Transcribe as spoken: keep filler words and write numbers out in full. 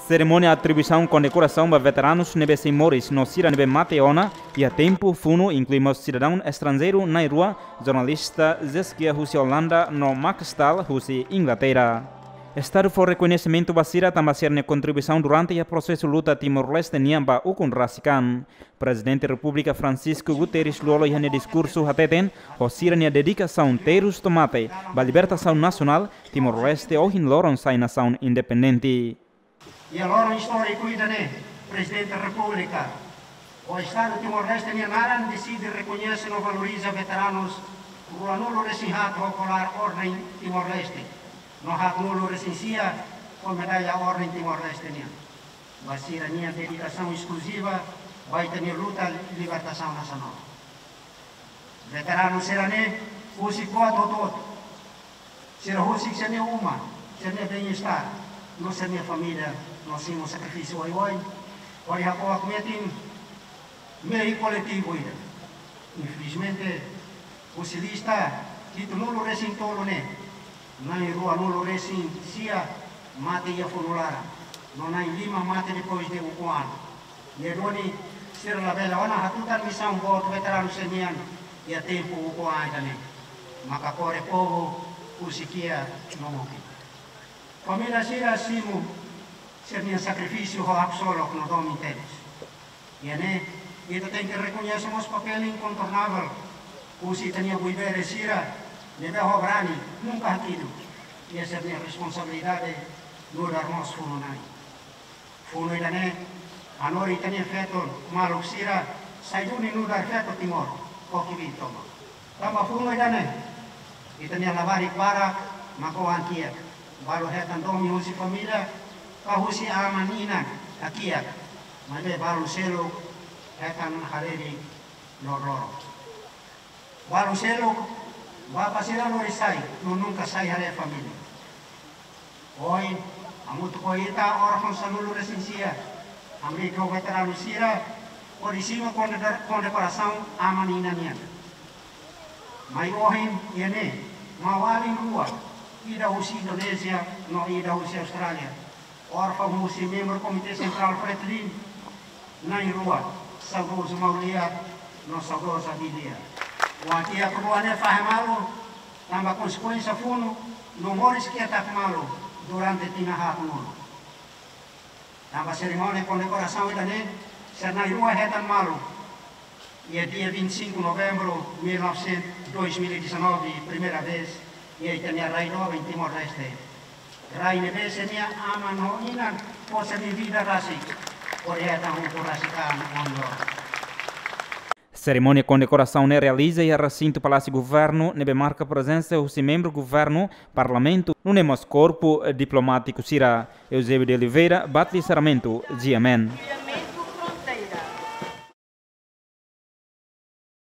Serimónia atribuisaun kondekorasaun ba veteranus ne'ebé sei moris no sira ne'ebé mate ona iha tempu funu, inklui mós sidadaun estranjeiru na'in-rua, jornalista Zeskia husi Olanda no Max Stahl husi Inglaterra. Estadu fó rekoñesimentu ba sira tanba sira-nia kontribuisaun durante iha prosesu luta Timor-Leste nian ba ukun rasik an. Prezidente Repúblika Francisco Guterres Lú Olo iha nia diskursu hateten, ho sira-nia dedikasaun terus to'o mate ba libertasaun nasionál, Timor-Leste ohin loron sai nasaun independente. Iha loron istóriku ida-ne'e, Prezidente Repúblika, ho Estadu Timor-Leste nia naran, deside rekoñese no valoriza veteranus ruanulu-resin-haat ho kolar Orden Timor-Leste, no haatnulu-resin-sia ho medalla Orden Timor-Leste nian, ba sira-nia dedikasaun eskluziva ba ita-nia luta libertasaun nasionál. Veteranu sira-ne'e husik buat hotu-hotu. Sira husik sira-nia uma, sira-nia bem-estar, no sira-nia família, no simu sakrifísiu oioin, hodi hako'ak metin mehi koletivu ida. Infelizmente, husi lista hitunulu-resin-tolu ne'e, na'in-ruanulu-resin-sia mate iha funu laran, no na'in-lima mate depois de ukun an. Ne'e duni sira labele ona hatutan misaun boot veteranu sira-nian iha tempu ukun an ida-ne'e. Maka kore povu husik kiak no mutin. Família sira simu sira-nia sakrifísiu ho haksolok no domin tebes. Iha ne'e, ita tenke rekoñese mós papél inkontornável husi ita-nia buibere sira ne'ebé ho brani nunka hakiduk iha sira-nia responsabilidade nu'udar mós funu-na'in. Funu ida-ne'e hanorin ita-nia feto maluk sira sai duni nu'udar feto Timor ho kbiit tomak. Tanba funu ida-ne'e, ita-nia labarik barak mak oan kiak. Balu hetan domin husi família ka husi aman-inan hakiak, maibé balu seluk hetan halerik loroloron. Balu seluk, bapa sira lori sai, no nunka sai haree família. Ohin, hamutuk ho ita órfaun sanulu-resin-sia, hamriik ho veteranu sira, hodi simu konde-, kondekorasaun aman-inan nian. Mai ohin, iha ne'e, maun-alin rua, ida husi Indonézia, no ida husi Austrália. Órfaun husi membru Komité Sentrál Fretilin, na'in-rua, saudozu Maulia, no saudoza Bilia. Oan kiak rua ne'e fahe malu, tanba konsekuénsia funu, no moris ketak malu durante tinan haatnulu. Tanba serimónia kondekorasaun ida-ne'e, sira na'in-rua hetan malu. Iha dia vinte e cinco novembro mil novecentos, dois mil e dezanove, primeira vez, iha ita-nia rai doben Timor-Leste. Rai ne'ebé sira-nia aman no inan fó sira-nia vida rasik hodi hetan ukun rasik an ohin loron. Serimónia kondekorasaun ne'e realiza iha resintu Palásiu Governu, ne'ebé marka prezensa husi membru governu, parlamentu, nune'e mós korpu diplomátiku sira. Eusébio de Oliveira, Batli Sarmento, G M N.